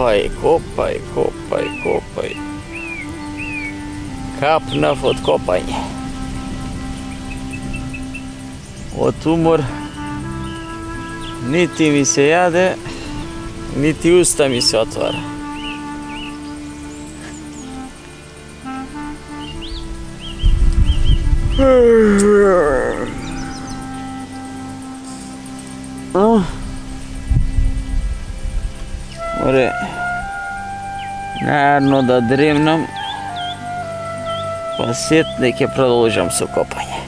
Копај, копај, копај, копај. Капнав од копање. Од умор нити ми се јаде, нити уста ми се отвара. Море, најарно да дремнам, па сетне ќе продолжам со копање.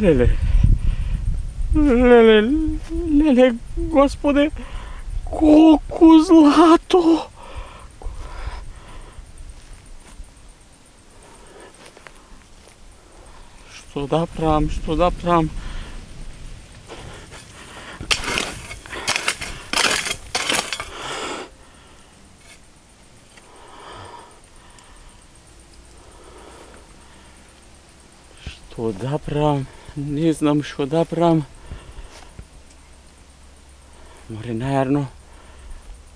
Леле, Господе, колку злато! Што да правам, што да правам? Што да правам? Не знам што да правам. Море најарно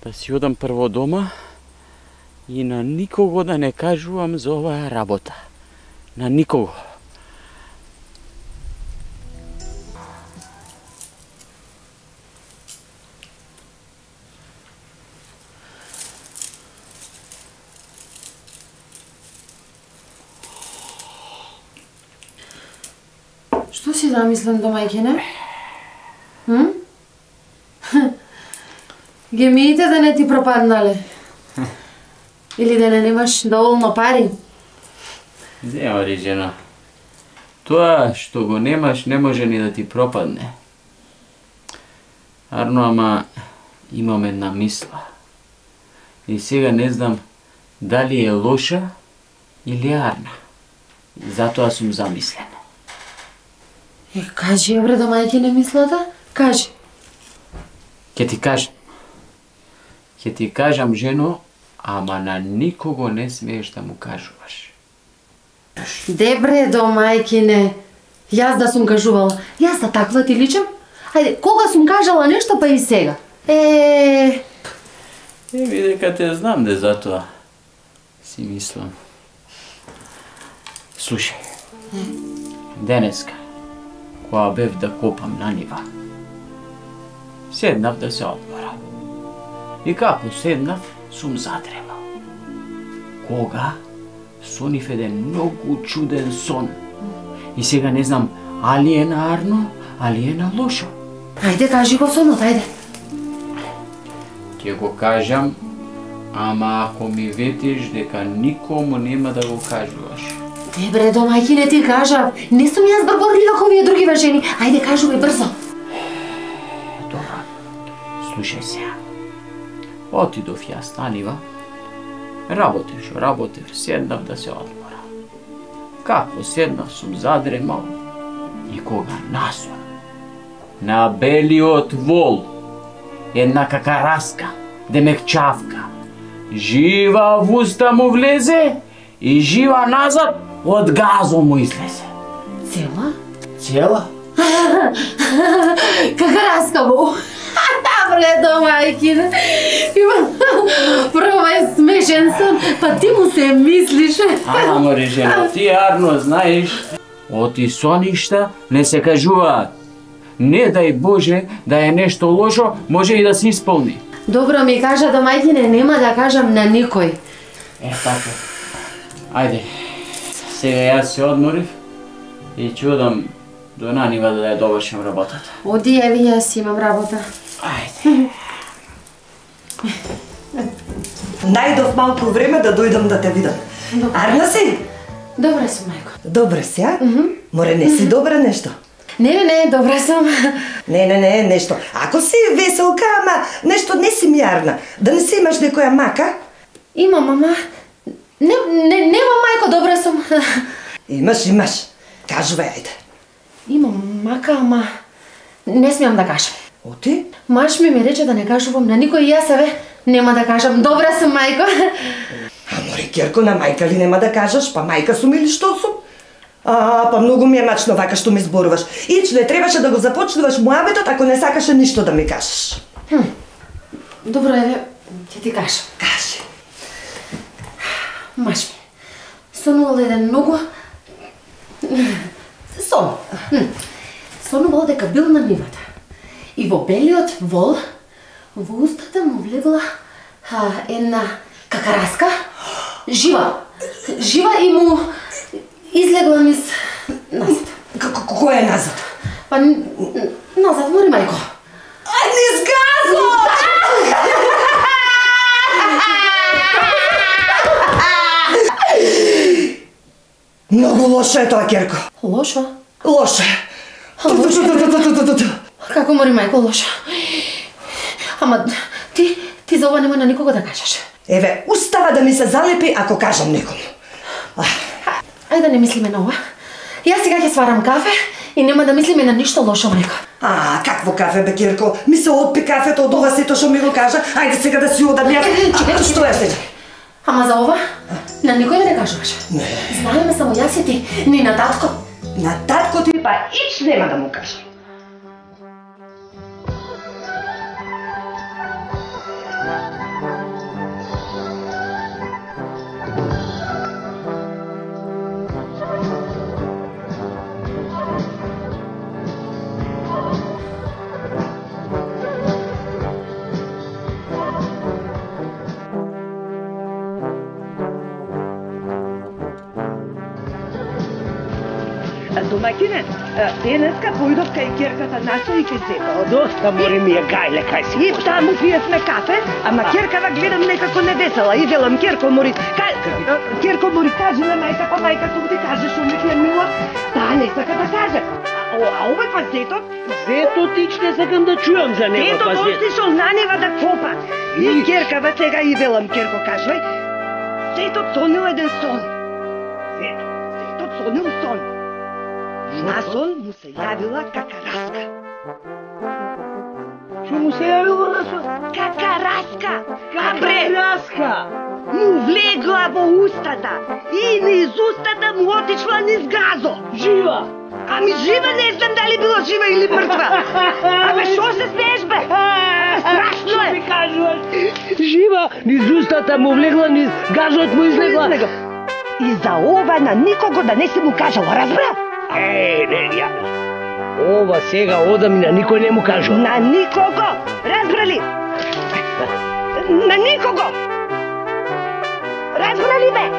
да си одам прво дома и на никого да не кажувам за оваа работа. На никого. Што си замислен, домајкине? Гемиите да не ти пропаднале? Или да не немаш доволно пари? Нема, жена. Тоа што го немаш не може ни да ти пропадне. Арно, ама имам една мисла. И сега не знам дали е лоша или арна. И затоа сум замислен. Кажи, бре, домајкине, мислата? Кажи. Ќе ти кажам. Ќе ти кажам, жено, ама на никого не смееш да му кажуваш. Дебре, домајкине. Јас да сум кажувала. Јас да таква ти личам? Ајде, кога сум кажала нешто, па и сега. Дека те знам де затоа си мислам. Слушај, денеска, кога бев да копам на нива, седнав да се одморам. И како седнав, сум задремал. Кога сонив еден многу чуден сон. И сега не знам, али е на арно, али е на лошо. Ајде, кажи го сонот, ајде. Ќе го кажам, ама ако ми ветиш дека никому нема да го кажуваш. Дебре, домајкине, ти кажав. Не сум јас брборлива како овие други жени. Ајде, кажувај брзо. Добро, слушај сега. Отидов јас на нива, работев, седнав да се одморам. Како седнав, сум задремал. И кога насум, на белиот вол, една какараска, демекчавка, жива в уста му влезе и жива назад од газо му излезе. Цела? Цела? Какараска му. Бре, домајкине. Прво е смешен сон, па ти му се мислиш. Ама, режена, ти арно знаеш, оти соништа не се кажуваат. Не дај Боже да е нешто лошо, може и да се исполни. Добро ми кажа, домајкине, нема да кажам на никој. Така. Ајде, сега јас се одморив и ќе одам до нанива да ја довршам работата. Оди, еви, јас имам работа. Ајде. Најдов малку време да дојдам да те видам. Арна си? Добра сум, мајко. Добра си, а? Море не си добра нешто? Не, добра сум. Не, нешто. Ако си веселка, ама нешто не си ми арна. Да не си имаш некоја мака? Имам, ама... Нема, мајко, добра сум. Имаш. Кажувај, ајде. Имам мака, ама... Не смеам да кажам. Оти? Маш ми рече да не кажувам на никој и јас, нема да кажам. Добра сум, мајко. А море, Керко, на мајка ли нема да кажеш? Па мајка сум или што сум? Па многу ми е мачно вака што ми зборуваш. Ич, не требаше да го започнуваш муабетот ако не сакаше ништо да ми кажеш. Добро, ќе ти кажам. Кажи. Маш ми, сонувал еден многу... Сон. Сонувал дека бил на нивата. И во белиот вол, во устата му влегла една какараска, жива и му излегла низ назад. Кој е назад? Па назад, мори мајко. Низ газот! Многу лошо е тоа, Керко. Лошо? Лошо е. Како, мори мајко, лошо? Ама ти за ова нема на никого да кажеш. Еве, устава да ми се залепи ако кажам некому. Ајде да не мислиме на ова. Јас сега ќе сварам кафе и нема да мислиме на ништо лошо, мајко. Какво кафе, бе, Кирко? Ми се отпи кафето од ова сето што ми го кажа. Ајде сега да си одам јас. Што е сега? Ама за ова, на никој да не кажуваш. Не. Знаеме само јас и ти, ни на татко. На татко ти па ич нема да му кажам. Домаќине, денеска појдов кај ќерката наша и кај сета. Доста мори ми е гајле кај си. И таму пиевме кафе, ама ќеркава гледам некако невесела. И велам, Ќерко мори, Ќерко мори, кажи на мајка, па мајка тук ти каже шо ми е мила. Таа не сака да каже. А овој па зетот? Зетот ич не сакам да чујам за него, па Зетот отишол на нива да копа. И ќеркава сега и велам, Ќерко кажувај, зетот сонил еден сон. Зетот сонил сон. На сон му се јавила какараска. Што му се јавила на сон? Какараска! Какараска! Му влегла во устата и низ устата му отишла низ газо. Жива! Ами жива, не знам дали била жива или мртва. Абе, шо се смееш, бе? Страшно е. Што ми кажуваш? Жива, низ устата му влегла, низ газот му излегла. И за ова на никого да не си му кажала, разбра? Не, ја. Ова сега одам и на никој не му кажувам. На никого! Разбрали? На никого! Разбрали ме?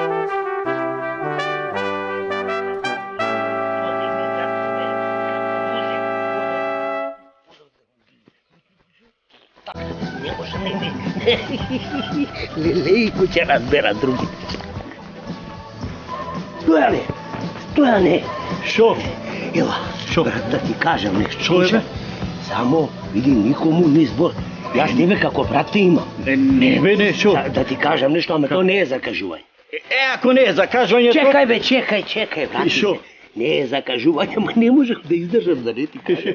Не може, не. Лелейко ќе разбера другите. Стојане. Шо? Ева, Шо? да ти кажам нешто. Шо е, бе? Само, види, никому не збор. Јас тебе како брат те имам. Не бе, не, шо? Да ти кажам нешто, ама то не е закажување. Ако не е закажување, Чекај бе, чекај, брат. Шо? Не е закажување, ама не можев да издржам да не ти кажам.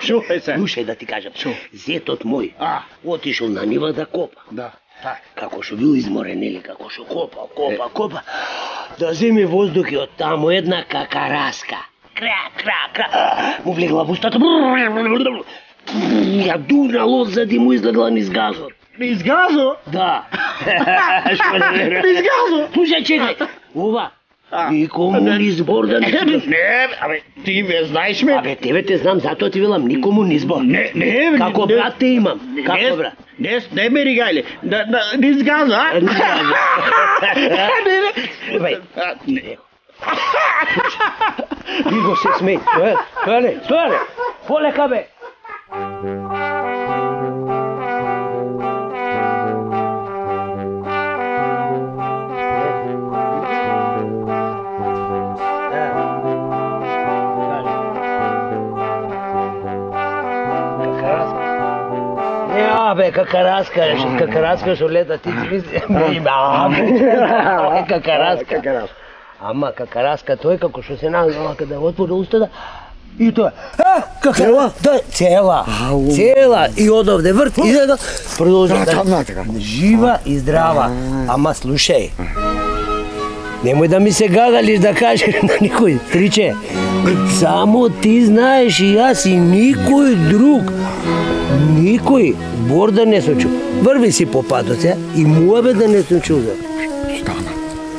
Шо е се? Слушај да ти кажам. Шо? Зетот мој отишол на нива да копа. Да, так. Како што бил изморен, нели, како што копа. Да земи воздух и од таму една какараска. Кра. Му влегла во устата. Ја дурнал одзади му излегла низ газот. Низ газо? Да. Што не верувам. Низ газо? Слушај, чекај. Ова. Никому ни збор да не си. Не, абе, ти ме знаеш ме? Абе, тебе те знам, затоа ти велам, никому ни збор. Не. Како брат те имам. Како брат? Не ме ригајле. Низ газо, а? Не. Ви го се смеј. Стојане. Полека бе. Бе, какараска што лета, ти си мисли, какараска. Ама какараска тој како што се наглава каде отвори устата и тоа. Цела? Да, цела. И одовде врт и да продолжи да жива и здрава. Ама слушај. Немој да ми се гагалиш да кажеш на никој, стриче. Само ти знаеш и јас и никој друг. Никој бор да не сум чул. Врви си по патот, и муабе да не сум чул. Стана.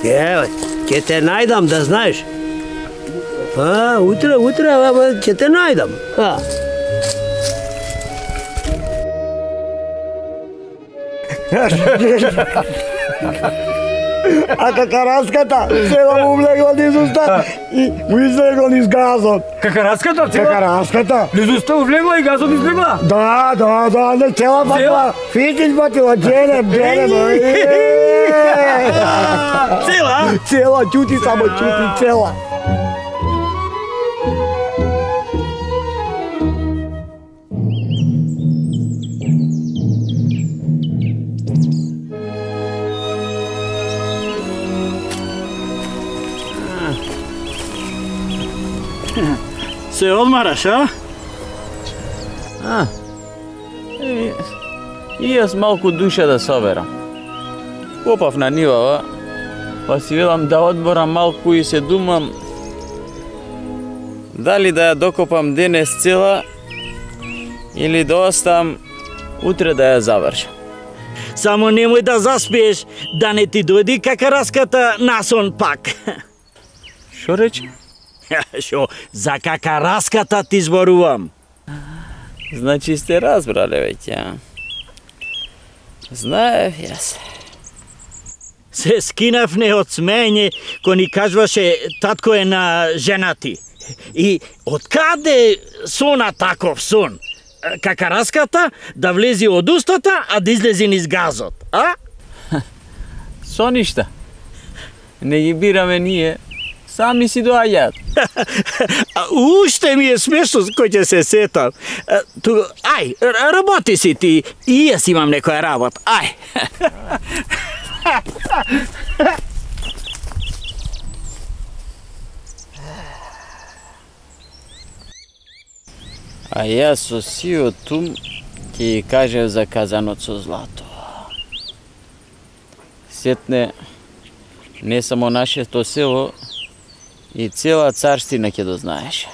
Еве, ќе те најдам да знаеш. Утре, ќе те најдам. А какараската цела му влегла низ уста и му излегла низ газот. Какараската цела? Какараската. Низ уста му влегла и газот излегла? Да, не цела патила. Фитиш патила, дженем. Цела? Цела, чути само, чути, цела. Се одмараш, а? И јас малку душа да соберам. Копав на нивава, па си велам да одморам малку и се думам дали да ја докопам денес цела или да оставам утре да ја завршам. Само немој да заспиеш, да не ти дојди какараската насон пак. Шо рече? Шо, за какараската ти зборувам. Значи сте разбрале веќе, а? Знаев јас. се скинавне од смење кој ни кажваше татко е на женати. И откаде сона таков сон? Какараската да влези од устата, а да излези низ газот, а? Со ништа. Не ги бираме ние, сами си доаѓаат. Уште ми е смешно кој ќе се сетам. Ај, работи си ти, и јас имам некоја работа, ај. А јас со сиот ум ќе ја кажев за казанот со злато. Сетне, не само нашето село, и цела царстина ќе дознаеше.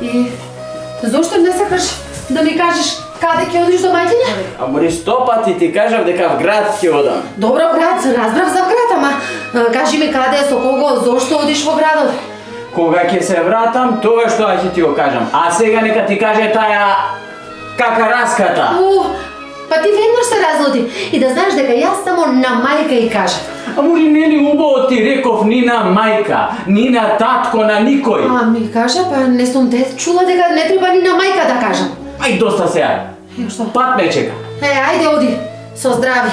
И зошто не сакаш да ми кажеш каде ќе одиш до мајкиња? Амори 100 пати ти кажав дека в град ќе одам. Добро, брат, разбрав за град, ама кажи ми каде, со кого, зошто одиш во градот? Кога ќе се вратам, тоа што ќе ти го кажам. А сега нека ти каже таа какараската. Па ти веднаш се разлути. И да знаеш дека јас само на мајка и кажа. Амори нели убаво ти реков ни на мајка, ни на татко, на никој. Ми кажа, па не сум те чула дека не треба ни на мајка да кажам. Ај доста сега. Што? Пат ме чека. Ајде оди, со здравје.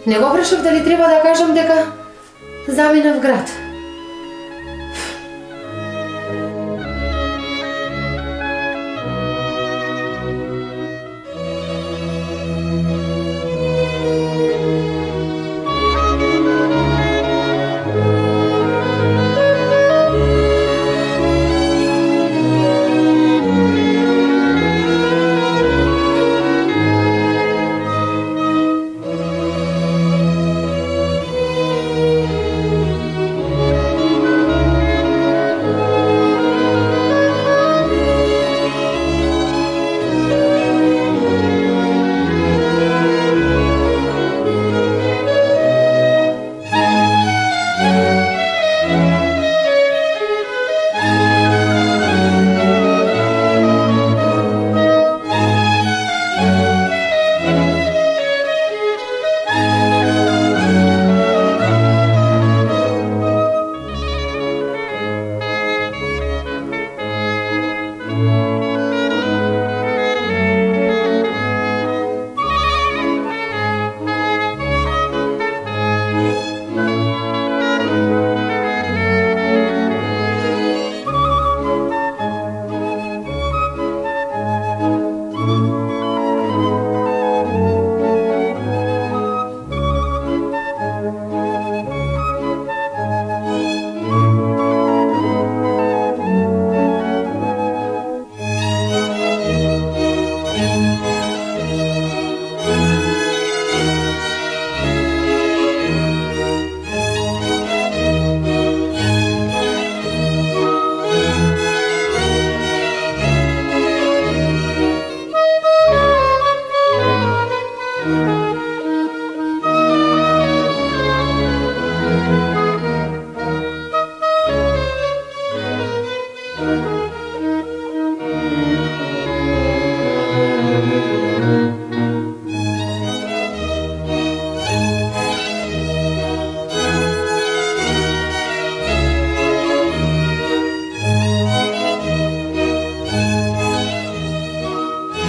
Не го прашав дали треба да кажам дека заминав град.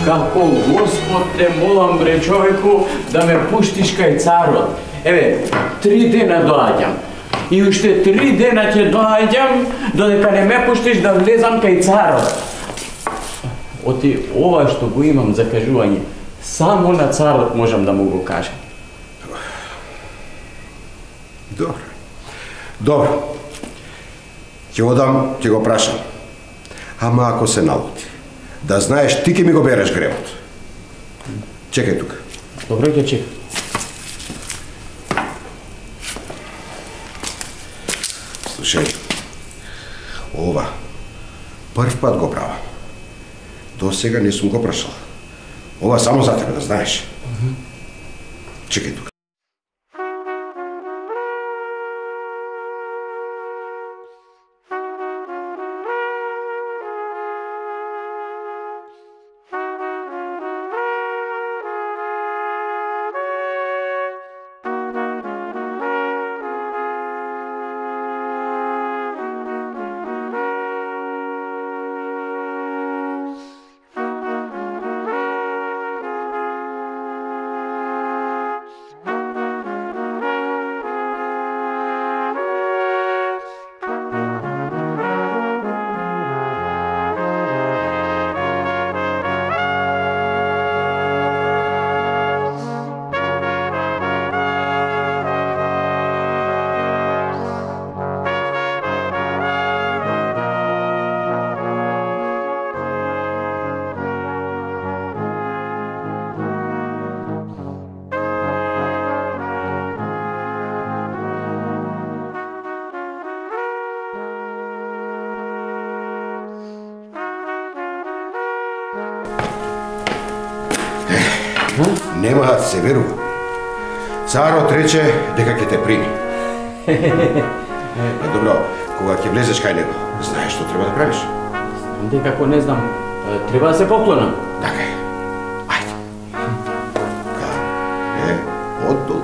Како Господ те молам бре човеку да ме пуштиш кај царот. Еве, 3 дена доаѓам. И уште 3 дена ќе доаѓам додека не ме пуштиш да влезам кај царот. Оти ова што го имам за кажување, само на царот можам да му го кажам. Добро. Ќе одам, ќе го прашам. Ама ако се налути, да знаеш ти ќе ми го береш гревот. Чекај тука. Добро, ќе чекам. Слушај, ова прв пат го правам. До сега не сум го прашал. Ова само за тебе, да знаеш. Чекај тука. Нема да се верува. Царот рече дека ќе те прими. Добро, кога ќе влезеш кај него, знаеш што треба да правиш? Дека ако не знам, треба да се поклонам. Така е. Ајде. Оддолу.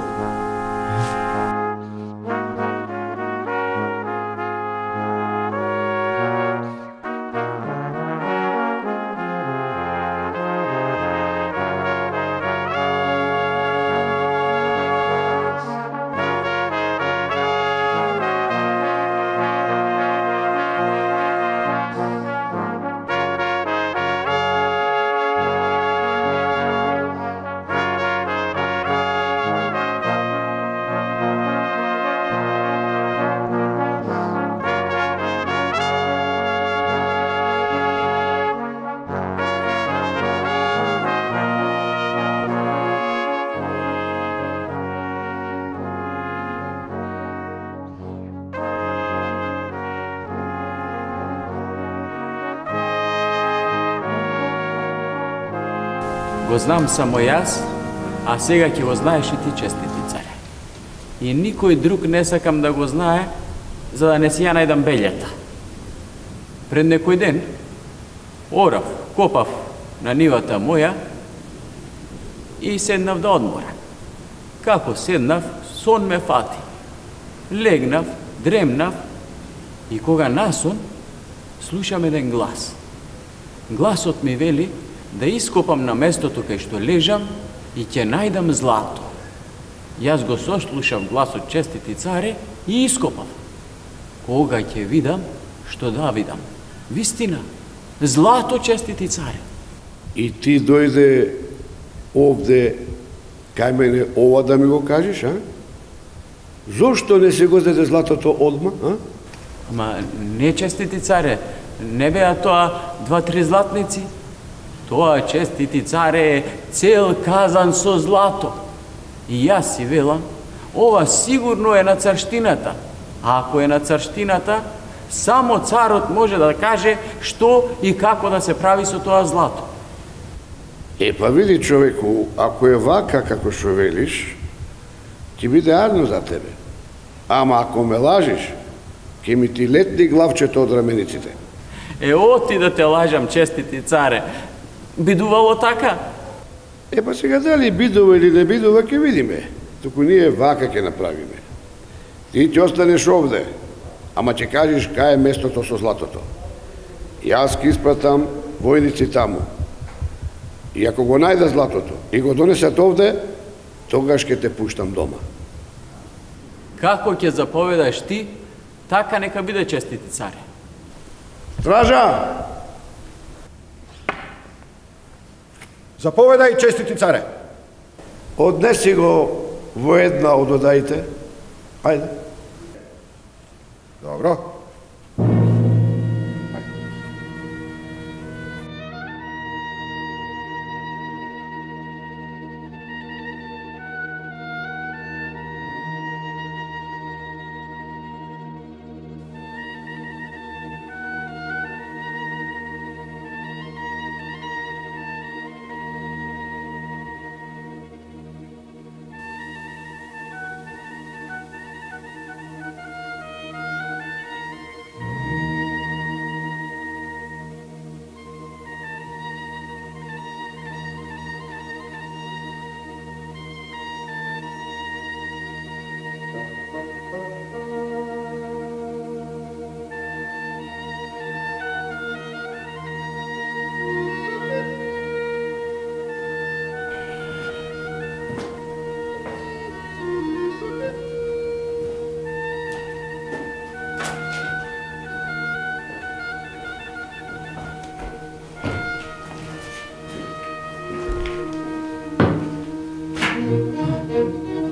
Го знам само јас, а сега ќе го знаеш и ти, честити царе. И никој друг не сакам да го знае, за да не си ја најдам белјата. Пред некој ден, орав, копав на нивата моја и седнав да одморам. Како седнав, сон ме фати. Легнав, дремнав и кога насон, слушам еден глас. Гласот ми вели да ископам на местото кај што лежам и ќе најдам злато. Јас го сослушав гласот, честити царе, и ископав. Кога ќе видам, што да видам? Вистина, злато, честити царе. И ти дојде овде кај мене ова да ми го кажеш, а? Зошто не се го зеде златото одма, а? Ама не, честити царе, не беа тоа 2-3 златници. Тоа, честити царе, е цел казан со злато. И јас си велам, ова сигурно е на царштината. А ако е на царштината, само царот може да каже што и како да се прави со тоа злато. Па види, човеку, ако е вака како што велиш, ќе биде арно за тебе. Ама ако ме лажиш, ќе ми ти летни главчето од рамениците. Оти да те лажам, честити царе. Бидувало така? Па сега дали бидува или не бидува, ќе видиме. Туку ние вака ќе направиме. Ти ќе останеш овде, ама ќе кажеш кај е местото со златото. Јас ќе испратам војници таму. И ако го најда златото и го донесат овде, тогаш ќе те пуштам дома. Како ќе заповедаш ти, така нека биде, честити царе. Стража! Заповедај, честити царе. Однеси го во една од одаите. Ајде. Добро.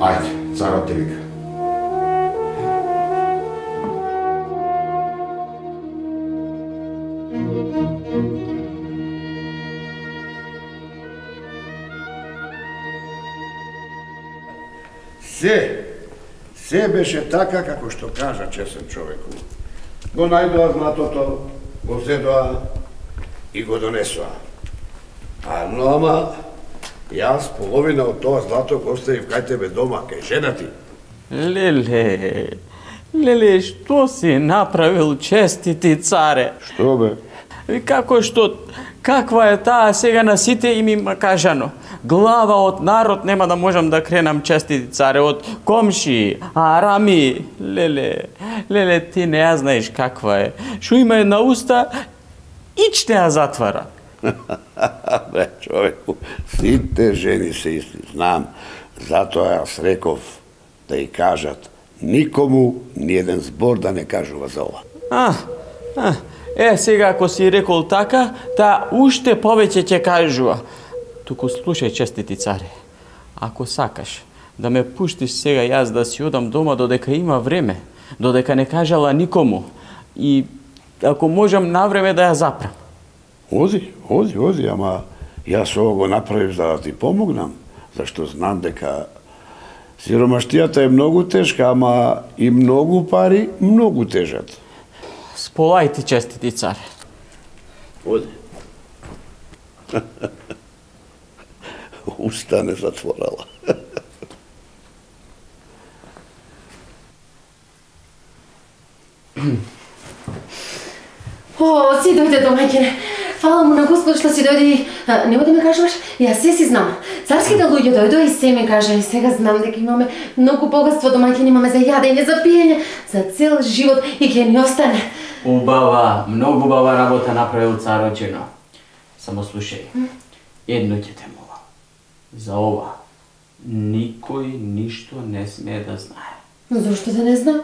Ајде, царот те вика. Се беше така како што кажа чесен човеку. Го најдоа златото, го зедоа и го донесоа. Ама, Јас половина од тоа злато го оставив кај тебе дома, кај жена ти. Леле, што си направил, честити царе? Што бе? Каква е таа сега на сите им има кажано? Глава од народ нема да можам да кренам, честити царе, од комши, арами. Леле, ти не ја знаеш каква е. Шо има една уста, ич не ја затвара. Бе, човеку, сите жени се исти, знам. Затоа јас реков да ја кажат никому ни еден збор да не кажува за ова. Сега ако си рекол така, таа уште повеќе ќе кажува. Туку слушај, честити царе, ако сакаш да ме пуштиш сега јас да си одам дома додека има време, додека не кажала никому, и ако можам навреме да ја запрам. Ози, ама јас ово го направив за да ти помогнам, зашто знам дека сиромаштијата е многу тешка, ама и многу пари многу тежат. Сполајте, честити царе. Оди. Уста не затворала. Си дојде домаќине. Фала му на Господ што си дојде и... Нема да ме кажуваш? Јас се си знам. Царските луѓе дојдоа и се ми кажа. И сега знам дека имаме многу богатство домаќини, имаме за јадење, за пиење, за цел живот и ќе ни остане. Убава, многу убава работа направил царочино. Само слушај, едно ќе те молам. За ова, никој ништо не смее да знае. Зошто да не знае?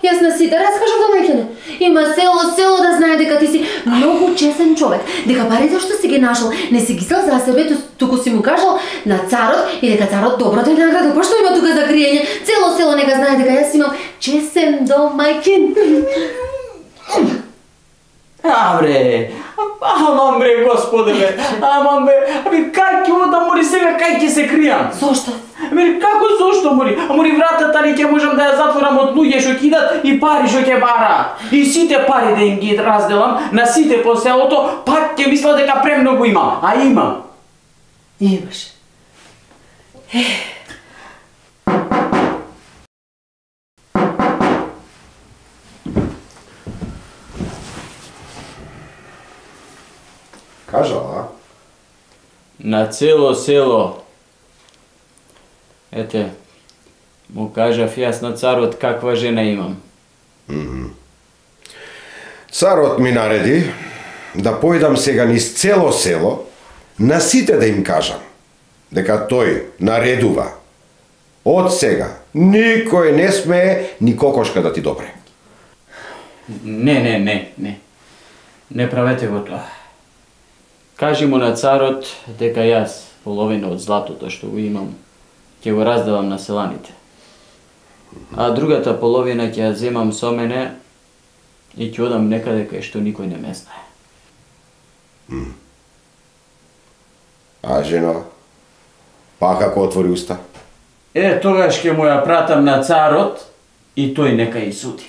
Јас на сите раскажав домаќине. Има село да знае дека ти си многу чесен човек, дека парите што си ги нашол не си ги сел за себе, туку си му кажал на царот и дека царот добро те наградил. Па што има тука за криење? Цело село нека знае дека јас имам чесен домаќин. Амам бре, Господе бе, кај ќе одам, мори сега, кај ќе се кријам? Зошто? Како зошто, мори? Мори вратата ли ќе можам да ја затворам од луѓе што кидат и пари што ќе бараат. И сите пари да им ги разделам на сите по селото, пак ќе мисла дека премногу имам, а имам. Имаш. Кажала? На цело село. Ете, му кажав јас на царот каква жена имам. Царот ми нареди да појдам сега низ цело село, на сите да им кажам дека тој наредува. Од сега никој не смее ни кокошка да ти допре. Не. Не правете го тоа. Кажи му на царот дека јас половина од златото што го имам ќе го разделам на селаните. А другата половина ќе ја земам со мене и ќе одам некаде кај што никој не ме знае. А жена, па како отвори уста? Тогаш ќе му ја пратам на царот и тој нека и суди.